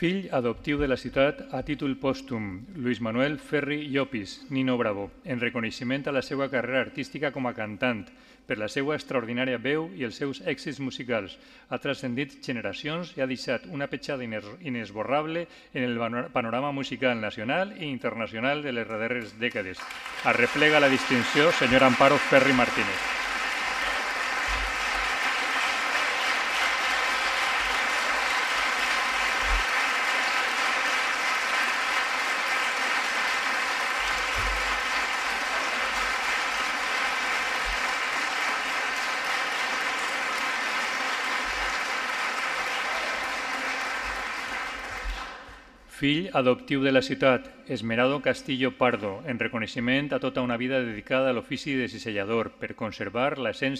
Fill adoptiu de la ciutat a títol pòstum, Luis Manuel Ferri Llopis, Nino Bravo, en reconeixement a la seva carrera artística com a cantant, per la seva extraordinària veu i els seus èxits musicals. Ha transcendit generacions i ha deixat una petjada inesborrable en el panorama musical nacional i internacional de les darreres dècades. Arreplega la distinció, senyora Amparo Ferri Martínez. Fill adoptiu de la ciutat, Esmeraldo Castillo Pardo, en reconeixement a tota una vida dedicada a l'ofici de cisellador per conservar l'essència